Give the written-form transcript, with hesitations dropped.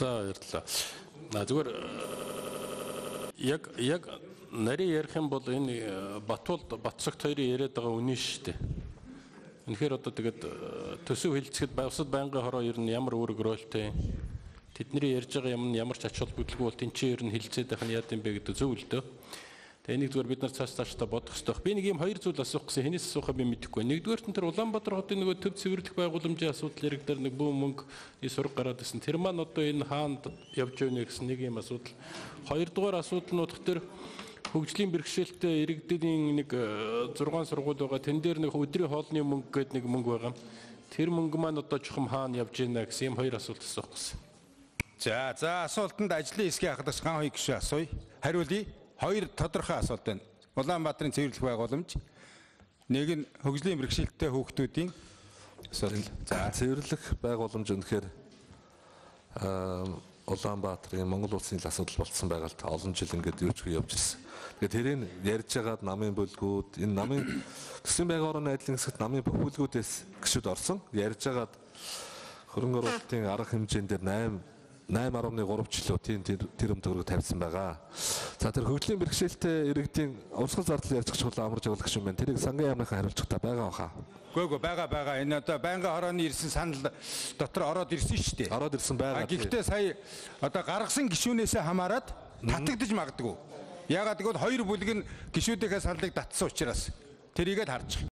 За баярлалаа. Зүгээр яг нарийн ярих юм бол энэ Батцогт хоёрын яриад байгаа үнэн шүү дээ. Үнэхээр одоо тэгээд төсөв хилцэхэд усад байнгын хороо ер нь ямар үүрэг ролтой тэдний ярьж байгаа юм нь ямар ч ач холбогдолгүй бол тэнцээ ер нь хилцээд байх нь яа гэм бэ гэдэг зөв л дөө. Тэгээ энийг зүгээр бид нар цааш та бодох хэрэгтэй. Би нэг юм хоёр зүйл асуух гэсэн хэнээс асуухаа би мэдэхгүй. Нэгдүгээр нь тэр Улаанбаатар хотын нөгөө төв цэвэрлэх байгууламжийн асуудал яригдаар нэг бүү мөнгө сураг гараад ирсэн. Тэр маань одоо энэ хаанд явж байна гэсэн нэг юм асуудал. Хоёрдугаар асуудал нь утга тэр хөгжлийн бэрхшээлтэй иргэдийн нэг 6 сургууль байгаа. Тэн дээр нэг өдрийн хоолны мөнгө гэдэг нэг мөнгө байгаа. Тэр мөнгө маань одоо чухам хаана явж байна гэсэн юм хоёр асуулт асуух гэсэн. За асуултанд ажлын хэсгийн ахлагч ган хоёр гишүүн асууя. Хариулъя. Хоёр тодорхой асуулт байна. Улаанбаатарын цэвэрлэх байгууламж, нэг нь хөгжлийн бэрхшээлтэй хүүхдүүдийн асуудал. За цэвэрлэх байгууламж үнэхээр Улаанбаатарын Монгол улсын асуудал болсон байгаа л олон жил ингээд юучгүй явж ирсэн. Тэгээд тэрийг ярьж байгаад намын бүлгүүд, энэ намын төсвийн байгууллагын найдлын хэсэгт намын бүх бүлгүүдээс гишүүд орсон. Ярьж байгаад хөрөнгө оруулалтын арга хэмжээнд дээр 8.3 жилөө тэр төгрөг тавьсан байгаа. За тэр хөгжлийн бэрхшээлтэй иргэдийн урсгал зардал ярьж чухал амарч явуулах юм байна. Тэрийг сангийн яамныхаа хариулцагтаа байгаа баха. Үгүй байгаа. Энэ одоо байнгын хорооны ирсэн санал дотор ороод ирсэн шүү дээ. Ороод ирсэн байгаа. Гэхдээ сая одоо гаргасан гишүүнээсээ хамаарат татагдаж магадгүй. Яагаад гэвэл хоёр бүлэг нь гишүүдийнхээ саналыг татсан учраас тэрийгээ харж